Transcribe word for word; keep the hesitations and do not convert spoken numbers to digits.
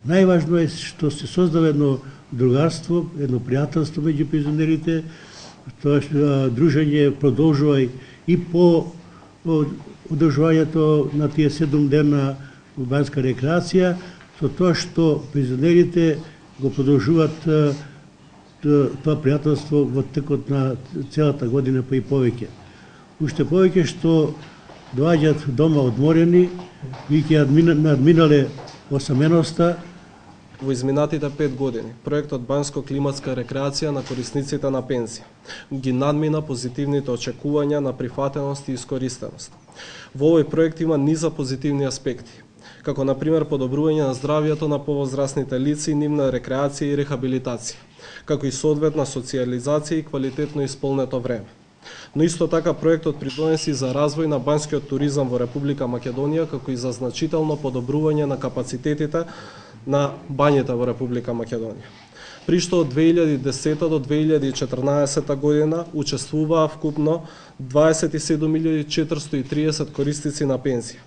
Најважно е што се создава едно другарство, едно пријателство меѓу пензионерите, тоа што дружење продолжува и по одржувањето на тие седум дена урбанска рекреација, со тоа што пензионерите го продолжуваат тоа пријателство во текот на целата година, па и повеќе. Уште повеќе што доаѓаат дома одморени, веќе надминале осаменоста. Во изминатите пет години, проектот Банско-климатска рекреација на корисниците на пензија ги надмина позитивните очекувања на прифатеност и искористеност. Во овој проект има низа позитивни аспекти, како на пример подобрување на здравјето на повозрасните лица и нивна рекреација и рехабилитација, како и соодветна социјализација и квалитетно исполнето време. Но исто така проектот придонеси за развој на банскиот туризам во Република Македонија, како и за значително подобрување на капацитетите на бањите во Република Македонија. При што од две илјади и десета до две илјади и четрнаесета година учествуваа вкупно дваесет и седум илјади четиристотини и триесет корисници на пензија,